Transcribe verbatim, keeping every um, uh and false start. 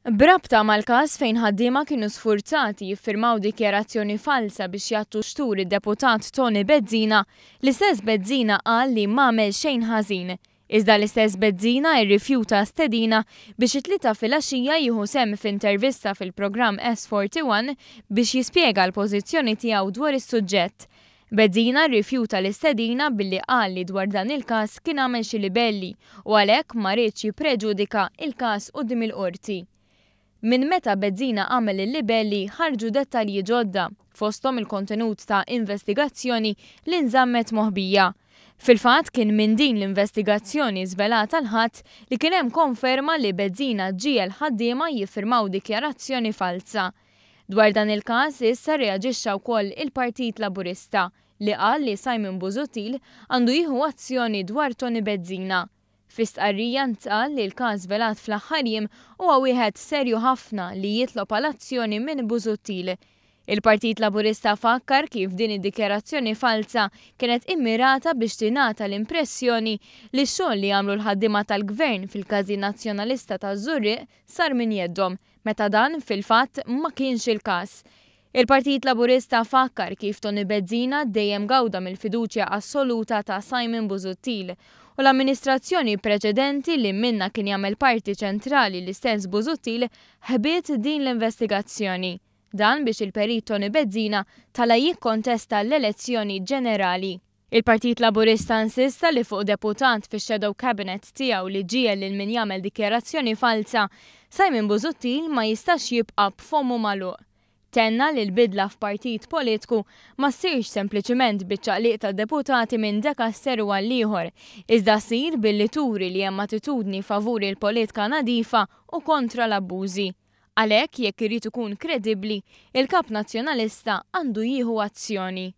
B'rabta mal-każ fejn ħaddiema kienu sfurzati jiffirmaw dikjarazzjoni falsa biex jgħattu xtur id-deputat Toni Bezzina, l-istess Bezzina qal li m'għamel xejn ħażin. Iżda l-istess Bezzina rrifjuta stedina biex it-Tlieta filgħaxija jieħu sehem f'intervista fil-programm S forty-one biex jispjega l-pożizzjoni tiegħu dwar is-suġġett. Bezzina rrifjuta l-istedina billi qal li dwar dan il-każ kien għamel xi libelli u għalhekk ma riedx jippreġudika il-każ quddiem il-qorti. Minn meta Bezzina għamel il-libelli ħarġu dettalji ġodda, fosthom il-kontenut ta' investigazzjoni li nżammet moħbija. Fil-fatt, kien minn din l-investigazzjoni żvelata l-Ħadd li kien hemm konferma li Bezzina ġiegħel ħaddiema jiffirmaw dikjarazzjoni falsa. Dwar dan il-każ issa reaġixxa wkoll il-Partit Laburista, li qal li Simon Busuttil għandu jieħu azzjoni dwar Toni Bezzina. Fi stqarrija ntqal li l-każ żvelat fl-aħħar jiem huwa wieħed serju ħafna li jitlob għal azzjoni minn Busuttil. Il-Partit Laburista fakkar kif din id-dikjarazzjoni falsa kienet immirata biex tingħata l-impressjoni li x-xogħol li għamlu l-ħaddiema tal-Gvern fil-Każin Nazzjonalista ta' Żurrieq sar minn jeddhom, meta dan fil-fatt ma kienx il-każ. Il-Partit Laburista fakkar kif Toni Bezzina dejjem gawda mill-fiduċja assoluta ta' Simon Busuttil u l-amministrazzjoni preċedenti, li minna kien jagħmel parti ċentrali l-istess Busuttil, ħbiet din l-investigazzjoni. Dan biex il-perit Toni Bezzina tala' jikkontesta l-elezzjoni ġenerali. Il-Partit Laburista insista li fuq deputat fi shadow cabinet tiegħu li ġiegħel lil min jagħmel dikjarazzjoni falsa, Simon Busuttil ma jistax jibqa' b'fommu magħluq. Tenna li l-bidla f'partit politiku ma ssirx sempliċiment biċ-ċaqliq ta' deputati minn dekasteru għal ieħor, iżda ssir billi turi li hemm attitudni favuri l-politika nadifa u kontra l-abbużi. Għalhekk, jekk irid ikun kredibbli, il-kap nazzjonalista għandu jieħu azzjoni.